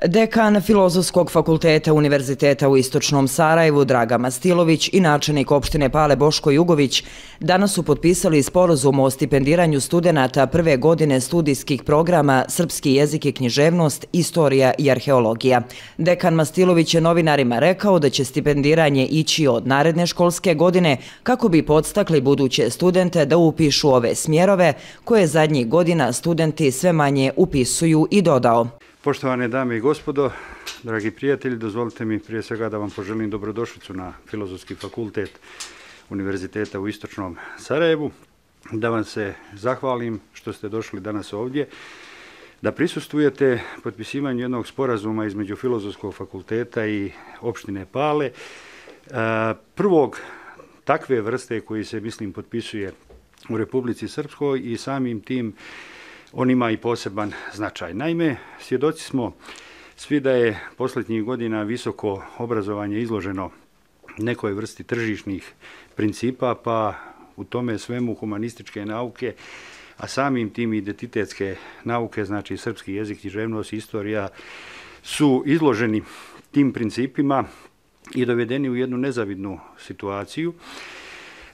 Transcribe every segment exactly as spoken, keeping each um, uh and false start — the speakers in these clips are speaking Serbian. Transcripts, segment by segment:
Dekan Filozofskog fakulteta Univerziteta u Istočnom Sarajevu Draga Mastilović i načelnik opštine Pale Boško Jugović danas su potpisali sporazum o stipendiranju studenata prve godine studijskih programa Srpski jezik i književnost, istorija i arheologija. Dekan Mastilović je novinarima rekao da će stipendiranje ići od naredne školske godine kako bi podstakli buduće studente da upišu ove smjerove koje zadnjih godina studenti sve manje upisuju, i dodao. Poštovane dame i gospodo, dragi prijatelji, dozvolite mi prije svega da vam poželim dobrodošlicu na Filozofski fakultet Univerziteta u Istočnom Sarajevu, da vam se zahvalim što ste došli danas ovdje, da prisustvujete potpisivanju jednog sporazuma između Filozofskog fakulteta i opštine Pale, prvog takve vrste koji se, mislim, potpisuje u Republici Srpskoj, i samim tim on ima i poseban značaj. Naime, svjedoci smo svi da je posljednjih godina visoko obrazovanje izloženo nekoj vrsti tržišnih principa, pa u tome svemu humanističke nauke, a samim tim identitetske nauke, znači srpski jezik, književnost i istorija, su izloženi tim principima i dovedeni u jednu nezavidnu situaciju.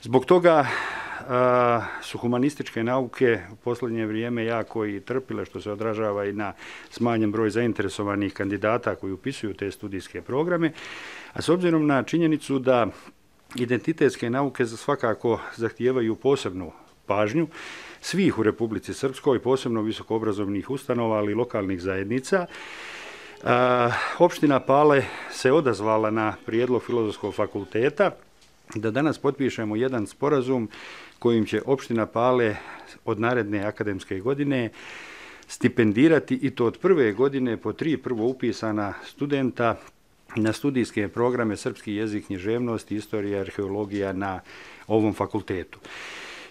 Zbog toga su humanističke nauke u posljednje vrijeme jako i trpile, što se odražava i na smanjen broj zainteresovanih kandidata koji upisuju te studijske programe, a s obzirom na činjenicu da identitetske nauke svakako zahtijevaju posebnu pažnju svih u Republici Srpskoj, posebno visokoobrazovnih ustanova, ali i lokalnih zajednica, opština Pale se odazvala na prijedlog Filozofskog fakulteta da danas potpišemo jedan sporazum kojim će opština Pale od naredne akademske godine stipendirati, i to od prve godine, po tri prvo upisana studenta na studijske programe Srpski jezik, književnost, istorija, arheologija na ovom fakultetu.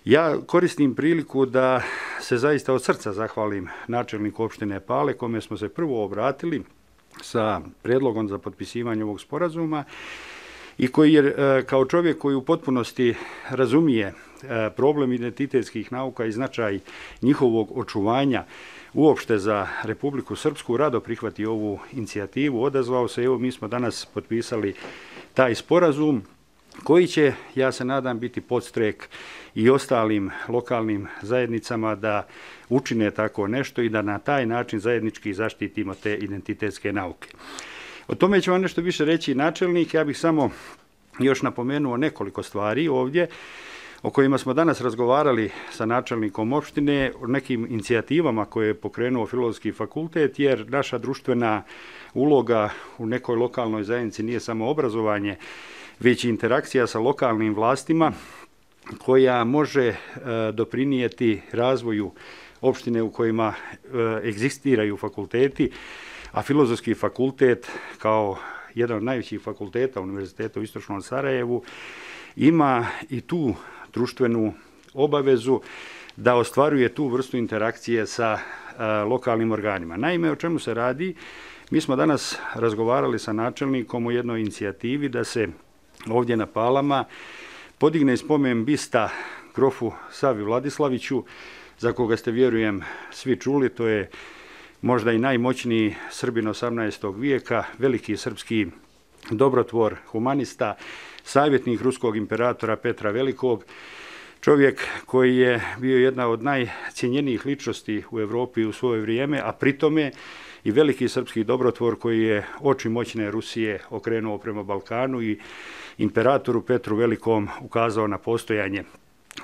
Ja koristim priliku da se zaista od srca zahvalim načelniku opštine Pale, kome smo se prvo obratili sa predlogom za potpisivanje ovog sporazuma, i koji je, kao čovjek koji u potpunosti razumije problem identitetskih nauka i značaj njihovog očuvanja uopšte za Republiku Srpsku, rado prihvati ovu inicijativu, odazvao se. Evo, mi smo danas potpisali taj sporazum koji će, ja se nadam, biti podstrek i ostalim lokalnim zajednicama da učine tako nešto i da na taj način zajednički zaštitimo te identitetske nauke. O tome ću vam nešto više reći načelnik. Ja bih samo još napomenuo nekoliko stvari ovdje o kojima smo danas razgovarali sa načelnikom opštine, o nekim inicijativama koje je pokrenuo Filozofski fakultet, jer naša društvena uloga u nekoj lokalnoj zajednici nije samo obrazovanje, već i interakcija sa lokalnim vlastima koja može doprinijeti razvoju opštine u kojima egzistiraju fakulteti, a Filozofski fakultet kao jedan od najvećih fakulteta Univerziteta u Istočnom Sarajevu ima i tu društvenu obavezu da ostvaruje tu vrstu interakcije sa lokalnim organima. Naime, o čemu se radi? Mi smo danas razgovarali sa načelnikom o jednoj inicijativi da se ovdje na Palama podigne spomen bista grofu Savi Vladislaviću, za koga ste, vjerujem, svi čuli. To je možda i najmoćniji Srbin osamnaestog vijeka, veliki srpski dobrotvor, humanista, savjetnik ruskog imperatora Petra Velikog, čovjek koji je bio jedna od najcijenjenijih ličnosti u Evropi u svoje vrijeme, a pritome i veliki srpski dobrotvor koji je oči moćne Rusije okrenuo prema Balkanu i imperatoru Petru Velikom ukazao na postojanje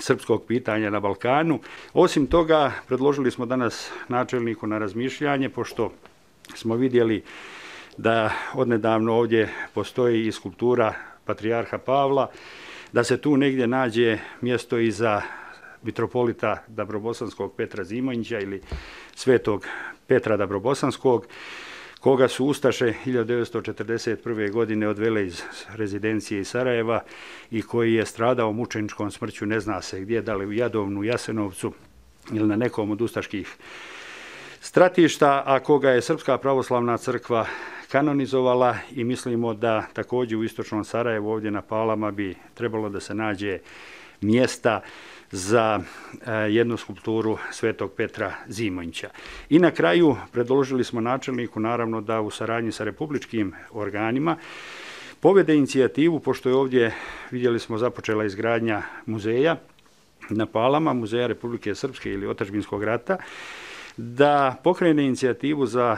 srpskog pitanja na Balkanu. Osim toga, predložili smo danas načelniku na razmišljanje, pošto smo vidjeli da odnedavno ovdje postoji i skulptura patrijarha Pavla, da se tu negdje nađe mjesto i za mitropolita Dabrobosanskog Petra Zimonjića ili svetog Petra Dabrobosanskog, koga su ustaše hiljadu devetsto četrdeset prve. godine odvele iz rezidencije iz Sarajeva i koji je stradao mučeničkom smrću, ne zna se gdje, da li u Jadovnu, Jasenovcu ili na nekom od ustaških stratišta, a koga je Srpska pravoslavna crkva kanonizovala, i mislimo da također u Istočnom Sarajevu ovdje na Palama bi trebalo da se nađe mjesta za jednu skulpturu Svetog Petra Zimonjića. I na kraju predložili smo načelniku naravno da u saradnji sa republičkim organima povede inicijativu, pošto je ovdje, vidjeli smo, započela izgradnja muzeja na Palama, Muzeja Republike Srpske ili Otadžbinskog rata, da pokrene inicijativu za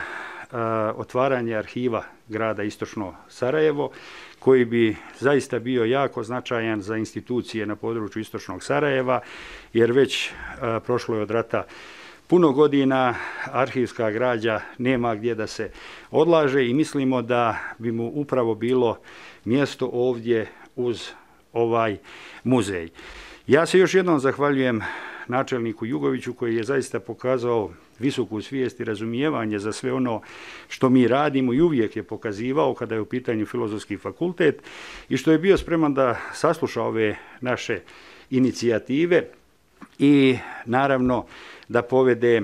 a, otvaranje arhiva grada Istočno Sarajevo, koji bi zaista bio jako značajan za institucije na području Istočnog Sarajeva, jer već a, prošlo je od rata puno godina, arhivska građa nema gdje da se odlaže i mislimo da bi mu upravo bilo mjesto ovdje uz ovaj muzej. Ja se još jednom zahvaljujem načelniku Jugoviću koji je zaista pokazao visoku svijest i razumijevanje za sve ono što mi radimo i uvijek je pokazivao kada je u pitanju Filozofski fakultet i što je bio spreman da sasluša ove naše inicijative i naravno da povede,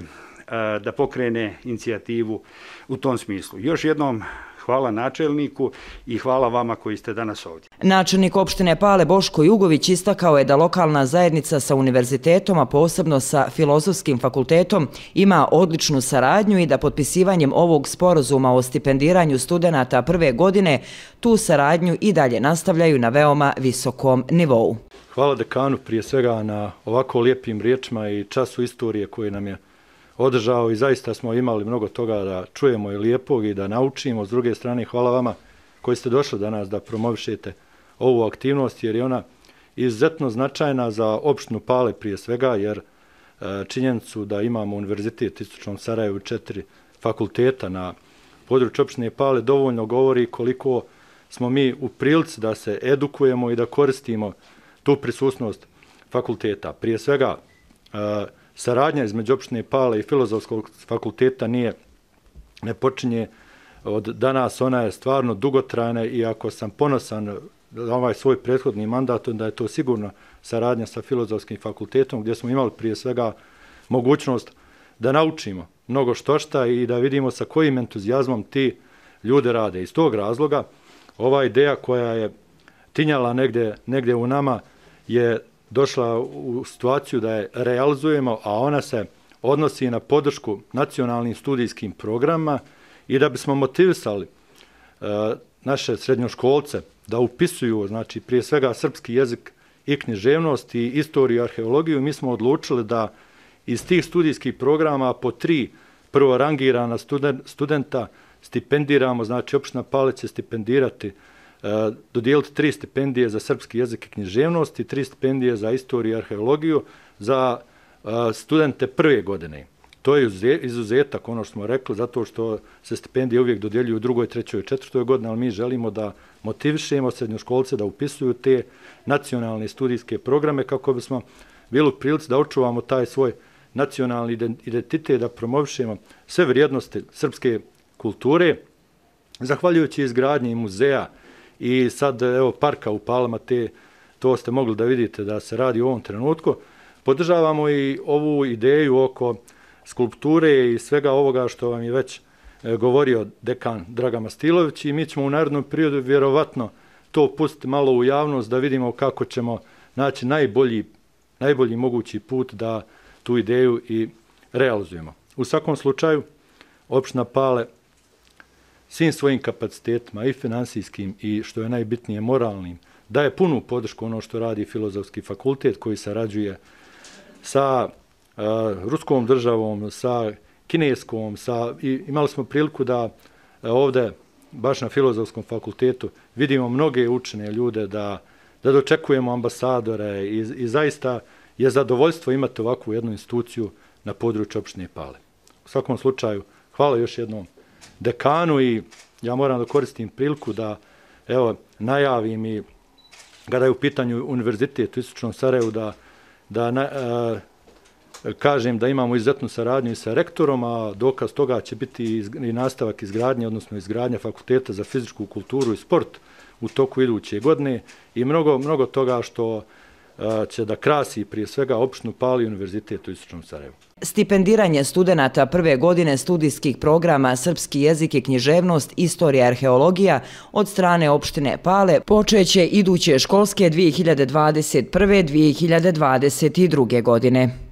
da pokrene inicijativu u tom smislu. Još jednom hvala načelniku i hvala vama koji ste danas ovdje. Načelnik opštine Pale Boško Jugović istakao je da lokalna zajednica sa univerzitetom, a posebno sa Filozofskim fakultetom, ima odličnu saradnju i da potpisivanjem ovog sporazuma o stipendiranju studenata prve godine tu saradnju i dalje nastavljaju na veoma visokom nivou. Hvala dekanu prije svega na ovako lijepim riječima i času istorije koje nam je održao i zaista smo imali mnogo toga da čujemo i lijepog i da naučimo. S druge strane, hvala vama koji ste došli danas da promovišete ovu aktivnost jer je ona izuzetno značajna za opštinu Pale prije svega jer činjenicu da imamo Univerzitet Istočnog Sarajevu četiri fakulteta na području opštine Pale dovoljno govori koliko smo mi u prilici da se edukujemo i da koristimo tu prisutnost fakulteta. Prije svega, saradnja između opštine Pale i Filozofskog fakulteta nije, ne počinje od danas, ona je stvarno dugotrajna i ako sam ponosan za ovaj svoj prethodni mandat, da je to sigurno saradnja sa Filozofskim fakultetom gdje smo imali prije svega mogućnost da naučimo mnogo štošta i da vidimo sa kojim entuzijazmom ti ljude rade. Iz tog razloga ova ideja koja je tinjala negdje, negdje u nama je došla u situaciju da je realizujemo, a ona se odnosi na podršku nacionalnim studijskim programima i da bismo motivisali e, naše srednjoškolce da upisuju, znači prije svega srpski jezik i književnost i istoriju i arheologiju, mi smo odlučili da iz tih studijskih programa po tri prvorangirana studenta stipendiramo, znači opština Pale će stipendirati dodijeliti tri stipendije za srpski jezik i književnost i tri stipendije za istoriju i arheologiju za studente prve godine. To je izuzetak, ono što smo rekli, zato što se stipendije uvijek dodjeljuju u drugoj, trećoj i četvrtoj godini, ali mi želimo da motivišemo srednjoškolce da upisuju te nacionalne studijske programe kako bismo bili u prilici da očuvamo taj svoj nacionalni identitet, da promovišemo sve vrijednosti srpske kulture, zahvaljujući izgradnji muzeja i sad evo parka u Palama, te, to ste mogli da vidite da se radi u ovom trenutku. Podržavamo i ovu ideju oko skulpture i svega ovoga što vam je već e, govorio dekan Dragan Mastilović i mi ćemo u narednom periodu vjerovatno to pustiti malo u javnost da vidimo kako ćemo naći najbolji, najbolji mogući put da tu ideju i realizujemo. U svakom slučaju, opština Pale svim svojim kapacitetima i finansijskim i što je najbitnije moralnim, daje punu podršku ono što radi Filozofski fakultet koji sarađuje sa uh, ruskom državom, sa kineskom, sa, i imali smo priliku da uh, ovdje baš na Filozofskom fakultetu vidimo mnoge učene ljude, da, da dočekujemo ambasadore i, i zaista je zadovoljstvo imati ovakvu jednu instituciju na području opštine Pale. U svakom slučaju, hvala još jednom dekanu i ja moram da koristim priliku da evo najavim i kada je u pitanju Univerzitet u Istočnom Sarajevu da, da na, a, kažem da imamo izuzetnu saradnju i sa rektorom, a dokaz toga će biti i nastavak izgradnje, odnosno izgradnja Fakulteta za fizičku kulturu i sport u toku iduće godine i mnogo, mnogo toga što će da krasi prije svega opštinu Pale i Univerzitet u Istočnom Sarajevu. Stipendiranje studenata prve godine studijskih programa Srpski jezik i književnost, istorija i arheologija od strane opštine Pale počeće iduće školske dvije hiljade dvadeset prve. dvije hiljade dvadeset druge. godine.